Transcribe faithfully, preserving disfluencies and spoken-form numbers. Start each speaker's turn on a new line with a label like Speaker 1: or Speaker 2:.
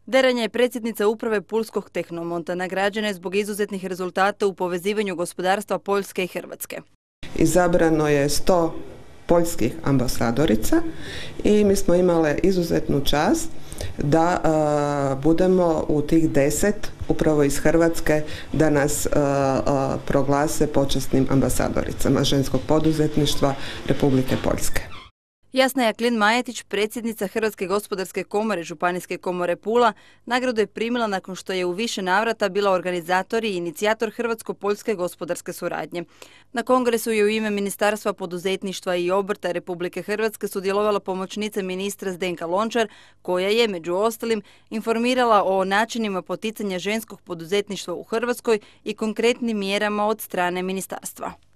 Speaker 1: Deranja je predsjednica uprave Pulskog Tehnomonta, nagrađena je zbog izuzetnih rezultata u povezivanju gospodarstva Poljske i Hrvatske.
Speaker 2: Izabrano je sto poljskih ambasadorica i mi smo imale izuzetnu čast da uh, budemo u tih deset upravo iz Hrvatske da nas uh, uh, proglase počasnim ambasadoricama ženskog poduzetništva Republike Poljske.
Speaker 1: Jasna Jaklin-Majetić, predsjednica Hrvatske gospodarske komore Županijske komore Pula, nagradu je primila nakon što je u više navrata bila organizator i inicijator Hrvatsko-poljske gospodarske suradnje. Na kongresu je u ime Ministarstva poduzetništva i obrta Republike Hrvatske sudjelovala pomoćnica ministra Zdenka Lončar, koja je, među ostalim, informirala o načinima poticanja ženskog poduzetništva u Hrvatskoj i konkretnim mjerama od strane ministarstva.